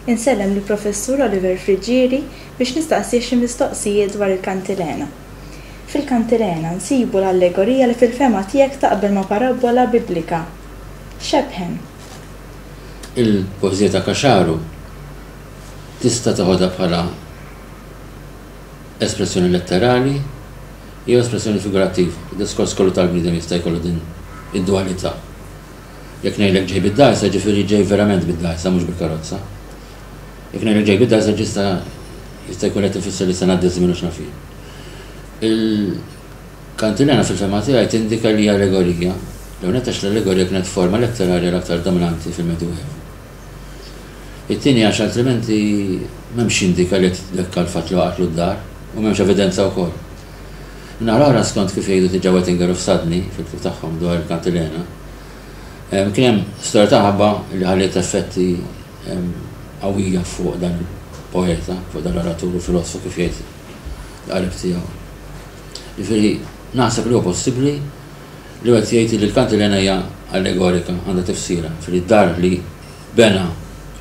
Insellem lill-Professur Oliver Friggieri biex nistaqsih xi mistoqsijiet dwar il-Kantilena. Fil-Kantilena nsibu l-allegorija li fil-fehma tiegħek taqbel ma' parabbola Biblika. Xebħen. Il-poeżija ta' Caxaro tista' teħodha bħala espressjoni letterali jew espressjoni figurattiva. Id-diskors kollu tal-bniedem jista' jkollu din id-dualità. Jekk ngħidlek ġej bid-dgħajsa, ġifieri ġej verament bid-dgħajsa mhux bil-karozza. Jekk ngħidlek ġej bid-dgħajsa ġista jista' jkun qed ifisser li se ngħaddi żmien u x'naf jien. Il-kantilena fil-fehma tiegħi tindika li hija allegorija, l-ewwel nett għax l-allegorija kienet forma letterarja l-aktar dominanti fil-Medjuevu. It-tieni għax altrimenti m'hemmx x'jindika li qed titbekka l-fatt li waqgħatlu d-dar u m'hemmx evidenza wkoll. Min-naħa l-oħra skont kif jgħidu diġà Wettinger u Fsadni fil-ktieb tagħhom dwar il-Kantilena, kien hemm storja ta' mħabba li ħalliet effetti qawwija fuq dan il-poeta, fuq dan l-oratur u filosfu kif jgħid l-qarib tiegħu. Jiġifieri naħseb li huwa possibbli li wieħed jgħid li l-Kantilena hija allegorika, għandha tifsira, jiġifieri d-dar li bena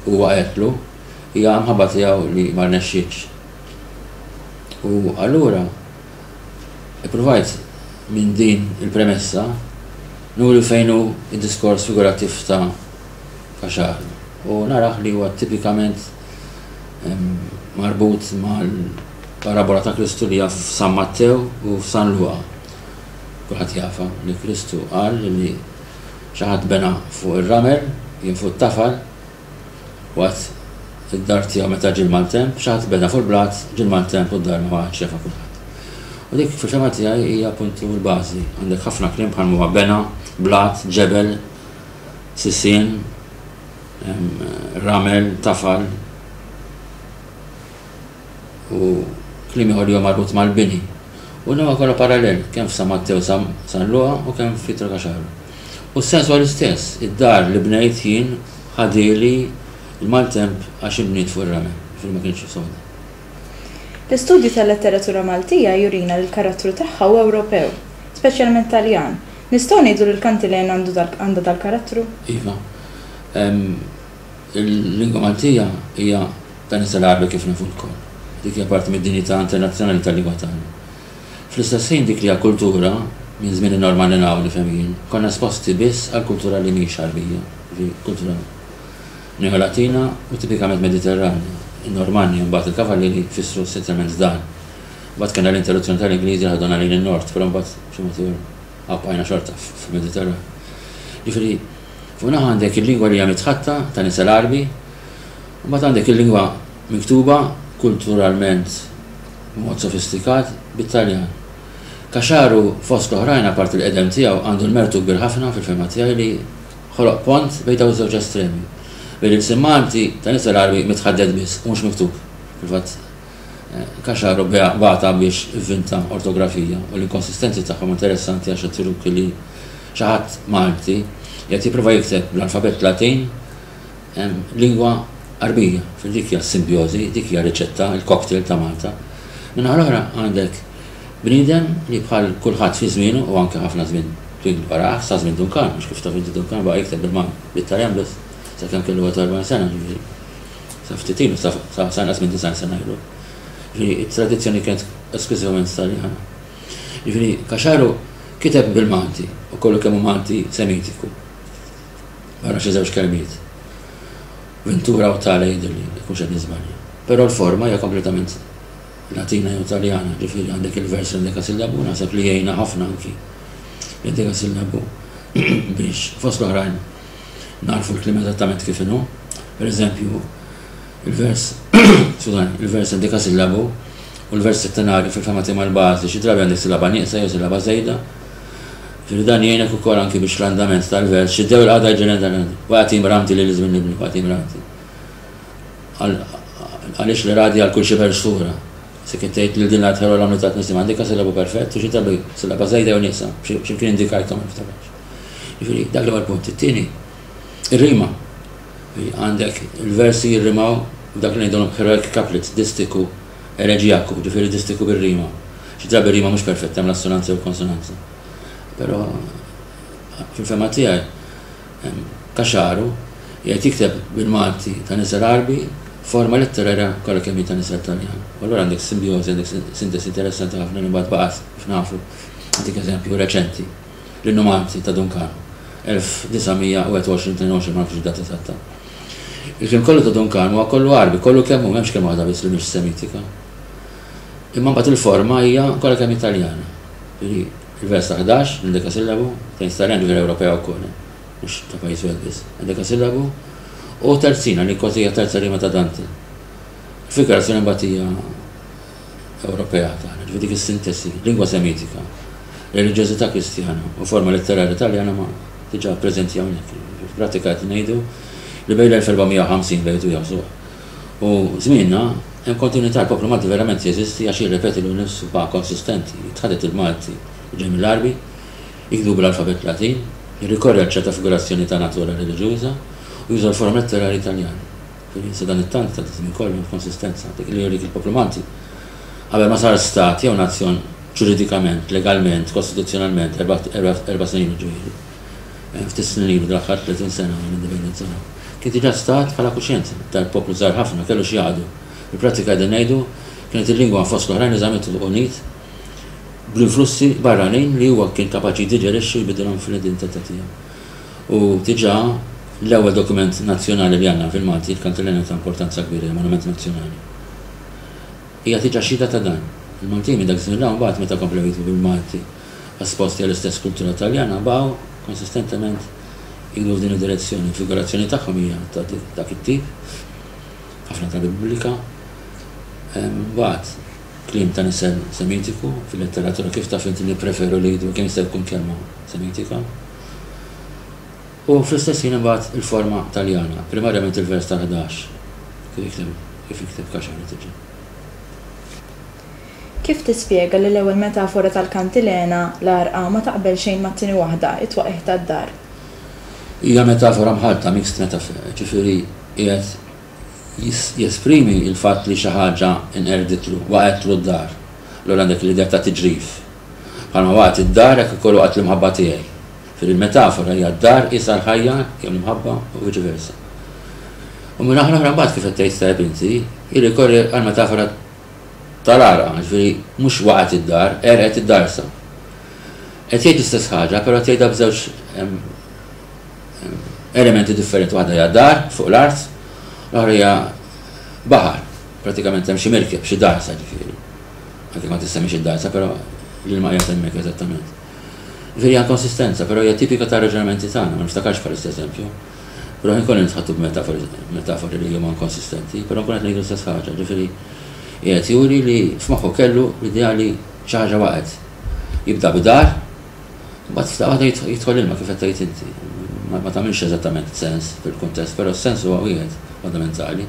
u waqgħetlu hija mħabba tiegħu li ma rnexxietx. U allura ippruvajt minn din il-premessa nuri fejn hu d-diskors figurattiv ta' Caxaro u narah li huwa tipikament marbut mal-parabola ta' Kristu li hija f'San Mattew u f'San Luqa. Kulħadd jafha li Kristu qal li xi ħadd bena fuq ir-ramel, jien fuq it-tafal, waqt id-dar tiegħu meta ġie l-maltemp, xi ħadd bena fuq il-blat, ġie l-maltemp u d-dar ma waqgħetx jafa kulħadd. U dik fil-fehma tiegħi hija appuntu l-bażi. Għandek ħafna kliem bħal huwa bena, blat, ġebel, sisien, ramel, tafal u kliem ieħor li huwa marbut mal-bini. U dan huwa kollha parallel kemm f'San Mattew San Luqa u kemm f'Pietro Caxaro. U s-sens huwa l-istess, id-dar li bnejt jien ħadieli l-maltemp għax inbniet fuq ir-ramel, jiġifieri ma kienx soda. L-istudju tal-letteratura Maltija jurina li l-karattru tagħha huwa Ewropew, speċjalment Taljan. Nistgħu ngħidu li l-kantilena għandu għandha dal-karattru? Iva. Il-lingwa Maltija hija ta' nisel Għarbi kif nafu lkoll. Dik hija parti mid-dinjità internazzjonali tal-lingwa tagħna. Fl-istess ħin dik li hija kultura, minn żmien in-Normanni 'l hawn nifhem jien, konna esposti biss għal kultura li mhix Għarbija, jiġifieri kultura Neo-Latina u tipikament Mediterranja. In-Normanni u mbagħad il-Kavallieri fissru essenzjalment dan. Mbagħad kellna l-interruzzjoni tal-Ingliżi li ħaduna lejn in-Nord, però mbagħad b'xi mod ieħor bqajna xorta fil-Mediterran. Jiġifieri fuq naħa għandek il-lingwa li hija mitħatta ta' nisel Għarbi, u mbagħad għandek il-lingwa miktuba kulturalment b'mod sofistikat bit-Taljan. Caxaro fost l-oħrajn apparti l-qedem tiegħu għandu l-mertu kbir ħafna fil-fehma tiegħi li ħoloq pont bejn dawn iż-żewġ estremi. Bejn l-ilsien Malti ta' nisel Għarbi mitħaddet biss u mhux miktub. Fil-fatt Caxaro bagħatha biex ivvinta ortografija u l-inkonsistenzi tagħhom interessanti għax qed juruk li xi ħadd Malti qiegħed jipprova jikteb bl-alfabett Latin lingwa Għarbija. Fil dik hija s-simbjożi, dik hija riċetta, il-cocktail ta' Malta. Min-naħa l-oħra għandek bniedem li bħal kulħadd fi żmienu u anke ħafna żmien twil warah, sa żmien Dun Karm, għax kif taf inti Dun Karm baqa' jikteb bil-Taljan biss sakemm kellu 41 sena, ġifieri sa ftit ilu, sa inqas minn 90 sena ilu. Ġifieri it-tradizzjoni kienet esklużivament Taljana. Ġifieri Caxaro kiteb bil-Malti u kollu kemm hu Malti Semitiku. Barra xi żewġ kelmiet. Ventura u tale jidhirli, jekk mhux qed niżbalja. Però l-forma hija kompletament Latina jew Taljana, ġifieri għandek il-vers endekasillabu, naħseb li jgħinna ħafna anki l-endekasillabu biex fost l-oħrajn nagħrfu l-kliem eżattament kif inhu. Per eżempju, il-vers, skużani, il-vers endekasillabu u l-vers settenarju fil-fehma tiegħi mal-bażi, xi drabi għandek sillaba nieqsa jew sillaba żejda. Ġifieri dan jgħinek ukoll anki biex l-andament tal-vers, xi dew il-qagħda jġielen dan, waqgħet imramti lil żmien nibni, waqgħet imramti. Għaliex l-iradi għal kull xiber sura. Se kien tgħid lil din l-art ħelwa l-għamlu ta' tnissim għandek sillabu perfett u xi drabi sillaba żejda jew nieqsa, x'imkien indikajthom ma niftakarx. Jiġifieri dak l-ewwel punt. It-tieni, ir-rima. Għandek il-versi jirrimaw b'dak li ngħidulhom heroic couplets, distiku eleġijaku, ġifieri distiku bir-rima. Xi drabi r-rima mhux perfetta, hemm l-assonanza jew konsonanza. Però fil-fehma tiegħi Caxaro qiegħed jikteb bil-Malti ta' nisel Għarbi. forma letterarja kollha kemm hi ta' nisel Taljan. U allura għandek simbjożi, għandek sintesi interessanti ħafna li mbagħad baqgħet kif nafu. Nagħtik eżempju reċenti, l-Innu Malti ta' Dun Karm, 1921, 22, ma nafx id-data eżatta. Il-kliem kollu ta' Dun Karm huwa kollu Għarbi, kollu kemm hu, m'hemmx kelma waħda biss li mhix Semitika. Imma mbagħad il-forma hija kollha kemm hi Taljana. Jiġifieri il-vers ta' 11, l-endekasillabu, tgħid Taljan ġifieri Ewropea wkoll, mhux ta' pajjiż wieħed biss, endekasillabu, u terzina li kważi hija terza rima ta' Dante. Il-figurazzjoni mbagħad hija Ewropea tagħna, ġifieri dik is-sintesi, lingwa Semitika, reliġjożità Kristjana u forma letterarja Taljana ma diġà preżenti hawnhekk. Fil-prattika qed ngħidu li bejn l-1450 bejn u jaħsuh u żmienna hemm kontinwità l-poplu Malti verament jeżisti għax jirrepeti lilu nnifsu baqa' konsistenti, jitħaddet il-Malti li ġej mill-Għarbi, jiktbu bl-alfabett Latin, jirrikorri għal ċerta figurazzjoni ta' natura reliġjuża u juża l-forom letterarji Taljani. Ġifieri sadanittant ta' żmien kollu hemm konsistenza. Dik li jurik il-poplu Malti qabel ma sar stat jew nazzjon ġuridikament, legalment, kostituzzjonalment erba' snin ilu ġifieri. Ftit snin ilu dal-aħħar 30 sena mill-indipendenza 'l hawn. Kien diġà stat bħala kuxjenza. Dal-poplu żgħir ħafna kellu x'jaqdu. Fil-prattika qegħdin ngħidu kienet il-lingwa fost l-oħrajn li żammitu unit bl-influssi barranin li huwa kien kapaċi jiddiġerixxi u jbiddilhom fl-identità tiegħu. U diġà l-ewwel dokument nazzjonali li għandna fil-Malti, il-Kantilena ta' importanza kbira, hija monument nazzjonali. Hija diġà xhieda ta' dan. Il-Maltin minn dak iż-żmien 'l hawn mbagħad meta komplew jiktbu bil-Malti esposti għall-istess kultura Taljana baqgħu konsistentement jiktbu f'din id-direzzjoni. Il-figurazzjoni tagħhom hija ta' dak it-tip, ħafna drabi biblika. Mbagħad kliem ta' nisel Semitiku, fil-letteratura kif taf inti nippreferu li jgħidu kemm jista' jkun kelma Semitika. U fl-istess ħin imbagħad il-forma Taljana, primarjament il-vers tal-11, kif jikteb kif jikteb Caxari diġà. Kif tispjega li l-ewwel metafora tal-kantilena, l-għarqa, ma taqbel xejn mat-tieni waħda, it-twaqqigħ tad-dar? Hija metafora mħallta, mixed metaphor, jiġifieri qiegħed jesprimi l-fatt li xi ħaġa nqerditlu, waqgħetlu d-dar. Allura għandek l-idea ta' tiġrif. Bħalma waqgħet id-dar hekk ukoll waqgħet l-imħabba tiegħi. Ġifieri l-metafora hija d-dar qisha l-ħajja jew l-imħabba u viċi versa. U min-naħa l-oħra mbagħad kif qed tgħid tajjeb inti, jirrikorri għall-metafora tal-għarqa, ġifieri mhux waqgħet id-dar, għerqet id-darsa. Qed jgħid l-istess ħaġa, però qed jgħidha b'żewġ elementi differenti, waħda hija dar fuq l-art, l-oħra hija baħar, pratikament hemm xi mirkeb, xi darsa ġifieri. Anke ma tissemmix id-darsa, però l-ilma qiegħed hemmhekk eżattament. Ġifieri hija konsistenza, però hija tipika tar-raġunamenti tagħna, ma niftakarx bħalissa eżempju. Però ħin kollu nitħattu b'metafori li huma inkonsistenti, però nkun qed ngħidu l-istess ħaġa, ġifieri qiegħed juri li f'moħħu kellu l-idea li xi ħaġa waqgħet. Jibda b'dar, Imbagħad f'daqqa waħda jidħol l-ilma kif qed tgħid inti. Ma tagħmilx eżattament sens fil-kuntest, però s-sens huwa wieħed fondamentali.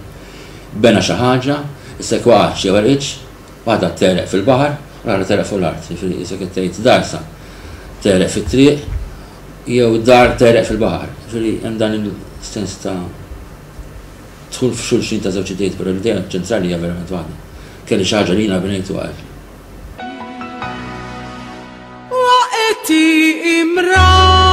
Bena xi ħaġa, issa jekk waqgħetx jew għerqitx, waħda tegħreq fil-baħar u l-oħra tegħreq fuq l-art. Jiġifieri qisek qed tgħid darsa tegħreq fit-triq jew dar tegħreq fil-baħar. Jiġifieri hemm dan il-sens ta' dħul f'xulxin ta' żewġ idejiet, però l-idea ċentrali hija verament waħda. Kelli xi ħaġa li jiena bnejt u waqgħetli. Waqti imra.